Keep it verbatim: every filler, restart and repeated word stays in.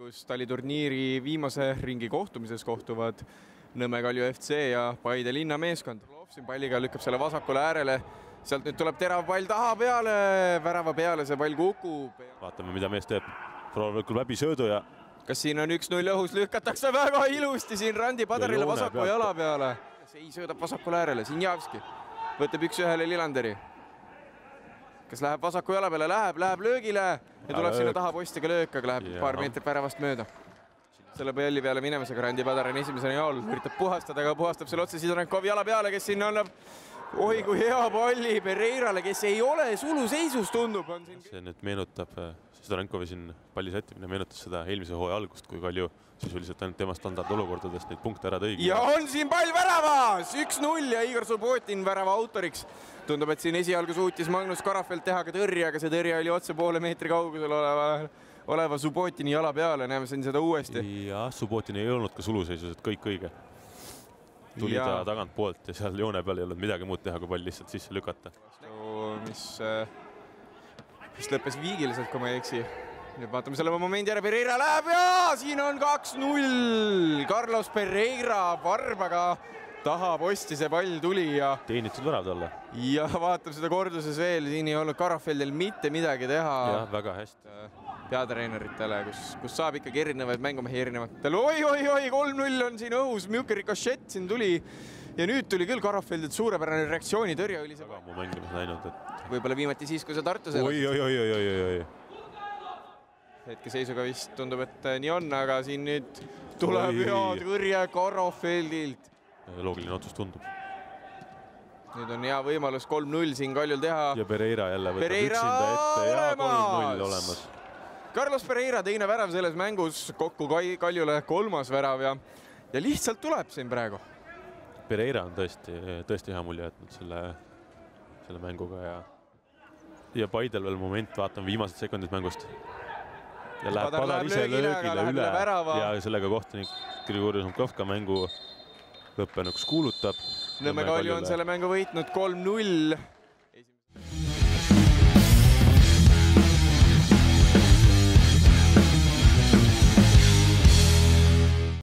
kus taliturniiri viimase ringi kohtumises kohtuvad Nõmme Kalju F C ja Paide linna meeskond. Siin palliga lükkab selle vasakule äärele, sealt nüüd tuleb terav pall taha peale, värava peale see pall kukub. Vaatame, mida mees teeb. Proovib küll läbi söödu ja... Kas siin on üks null õhus, lükatakse väga ilusti siin Randi Padarile vasaku jala peale. See ei söödab vasakule äärele, Sinjavski võtab üks ühele Lilanderi. Kas läheb vasaku jala peale? Läheb, läheb löögile ja tuleb sinna taha postiga löök, aga läheb ja. paar meetrit väravast mööda. Selle palli peale minemisega Randi Padar on esimesena jaol, üritab puhastada, aga puhastab selle otse Sidorenkovi jala peale, kes siin annab oi kui hea palli Pereirale, kes ei ole suluseisus, tundub. On siin... See nüüd meenutab Sidorenkovi siin palli sättimine, meenutas seda eelmise hooaja algust, kui Kalju sisuliselt ainult tema standardolukordadest neid punkte ära tõigi. Ja on siin pall väravas, üks null ja Igor Subotin värava autoriks. Tundub, et siin esialgu suutis Magnus Karafeld teha ka tõrje, aga see tõrje oli otse poole meetri kaugusel oleva, oleva Subotini jala peale, näeme siin seda uuesti. Ja Subotin ei olnud ka suluseisus, et kõik õige. Tuli ja. ta tagant poolt ja seal joone peal ei olnud midagi muud teha, kui pall lihtsalt sisse lükata. Mis, mis lõppes viigiliselt, kui ma ei eksi. Nüüd vaatame selle momendi ära, Pereira läheb ja siin on kaks null. Carlos Pereira varbaga taha posti see pall tuli ja... Teenitud värav talle. Ja vaatab seda korduses veel, siin ei olnud Karafeldil mitte midagi teha. Jah, väga hästi. Peatreeneritele, kus, kus saab ikkagi erinevaid mängumehi erinevatel. Oi, oi, oi, kolm null on siin õhus, Mjuke rikošett siin tuli ja nüüd tuli küll Karafeldilt suurepärane reaktsiooni, tõrje oli see. Väga mu mängimas näinud, et... Võib-olla viimati siis, kui see Tartus oi, oi, oi, oi, oi, oi. Hetke seisuga vist tundub, et nii on, aga siin nüüd tuleb hea tõrje Karafeldilt. Loogiline otsus tundub. Nüüd on hea võimalus kolm null siin Kaljul teha. Ja Pereira jälle võtab Pereira üksinda ette ja kolm null olemas. olemas. Carlos Pereira teine värav selles mängus, kokku Kaljule kolmas värav ja, ja lihtsalt tuleb siin praegu. Pereira on tõesti, tõesti hea mulje jätnud selle, selle mänguga ja, ja Paidel veel moment, vaatame viimased sekundid mängust. Ja läheb Padar, Padar ise löögile üle ja sellega kohtunik Grigori Zumkovka mängu lõppenuks kuulutab. Nõmme Kalju on selle mängu võitnud kolm null.